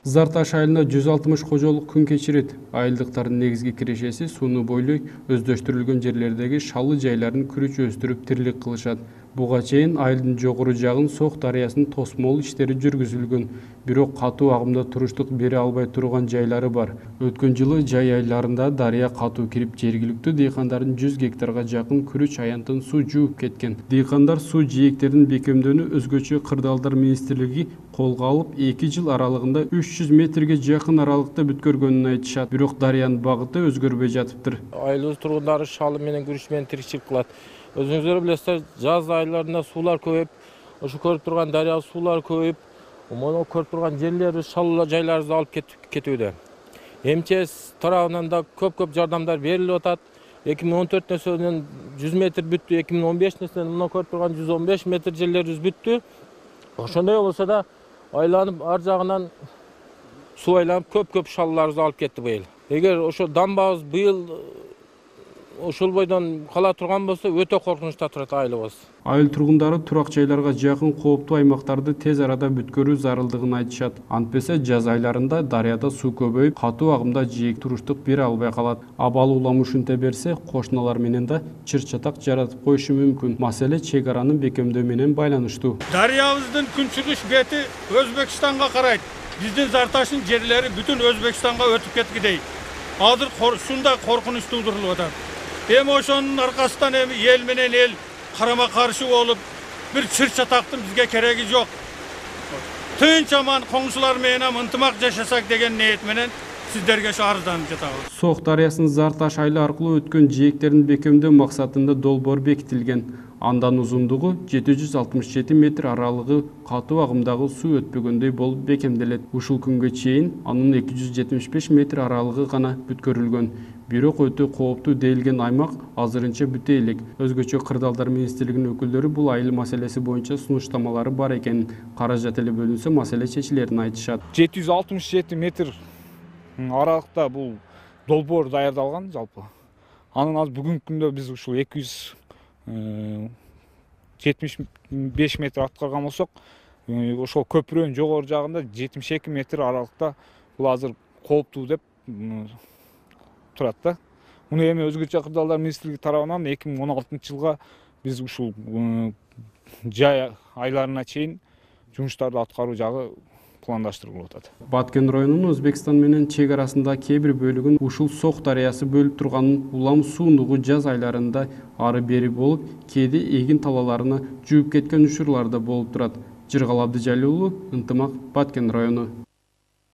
Зар Таш айылында 160 кожолук күн кечирет. Айылдыктардын негизги кирешеси сууну бойлой өздөштүрүлгөн жерлердеги шалы жайларын күрүч өстүрүп тирилик кылышат. Буга чейин айылдын жогору жагын Сок дарыясынын тосмол иштери жүргүзүлгөн. Бирок катуу агымда туруштук бере албай турган жайлары бар. Өткөн жылы жай айларында дарыя катуу кирип, жергиликтүү дыйкандардын 100 гектарга жакын күрүч аянтын суу жууп кеткен. Дыйкандар суу жээктерин бекемдөөнү өзгөчө Кырдаалдар министрлиги колго алып, 2 жыл аралыгында 300 метрге жакын аралыкта бүткөргөнүн айтышат. Бирок дарыянын багыты өзгөрбөй жатыптыр. Айылыбыз тургундары шалы менен күрүч менен тиричилик кылат. Өзүңүздөр билесиздер, жаз айларында суулар көбөйүп, ошо көрүп турган дарыя суулар көбөйүп, мону көрүп турган жерлерибиз, шал жайларыбызды алып кетүүдө. МЧС тарабынан да көп жардамдар берилип атат. 2014-нен 100 метр бүттү, 2015-нен мына көрүп турган 115 метр жерлерибиз бүттү. Ошондой болсо да айланып ар жагынан суу айланып көп шалларыбызды алып кетти быйыл. Эгер ошо дамбабыз быйыл ошол бойдон кала турган болсо, өтө коркунучта турат айылыбыз. Айыл тургундары турак жайларга жакын кооптуу аймактарды тез арада бүткөрүү зарылдыгын айтышат. Антпесе жаз айларында дарыяда суу көбөйүп, катуу агымда жээк туруштук бере албай калат. Абал улам ушинте берсе, кошуналар менен да чыр-чатак жаратып коюшу мүмкүн. Маселе чек араны бекемдөө менен байланыштуу. Дарыябыздын күнчүгүш бети Өзбекстанга карайт. Биздин Зар Таштын жерлери бүтүн Өзбекстанга өтүп кеткидей. Азыр ушундай коркунуч туудурулуп атат. Эми ошонун аркасынан эл менен эл карама каршы болуп, бир чыр-чатактын бизге кереги жок. Тынч аман коңшулар менен ынтымак жашасак деген ниет менен сиздерге ошо арызданып жатабыз. Сок дарыясынын Зар Таш айылы аркылуу өткөн жээктерин бекемдөө максатында долбоор бекитилген. Андан узундугу 767 метр, аралыгы катуу агымдагы суу өтпөгөндөй болуп бекемделет. Ушул күнгө чейин анын 275 метр аралыгы гана бүткөрүлгөн. Бирок өтө кооптуу дейилген аймак азырынча бүтө элек. Өзгөчө Кырдаалдар министрлигинин өкүлдөрү бул айыл маселеси боюнча сунуштамалары бар экенин, каражат эле бөлүнсө маселе чечилерин айтышат. 767 метр аралыкта бул долбоор даярдалган жалпы. Анын азыр бүгүнкү күндө биз ушул 275 метр аткарган болсок, ошол көпүрөнүн жогору жагында 72 метр аралыкта бул азыр кооптуу деп турат да. Муну эми өзгөчө Кырдаалдар министрлиги тарабынан 2016-жылга биз ушул жай айларына чейин жумуштарды аткаруу жагы пландаштырылып атат. Баткен районунун Өзбекстан менен чек арасында кээ бир бөлүгүн ушул Сок дарыясы бөлүп турганын, улам суундугу жаз айларында ары бери болуп, кээде эгин талаларына жууп кеткен учурлар да болуп турат. Жыргал Абдыжалил уулу, Ынтымак, Баткен району.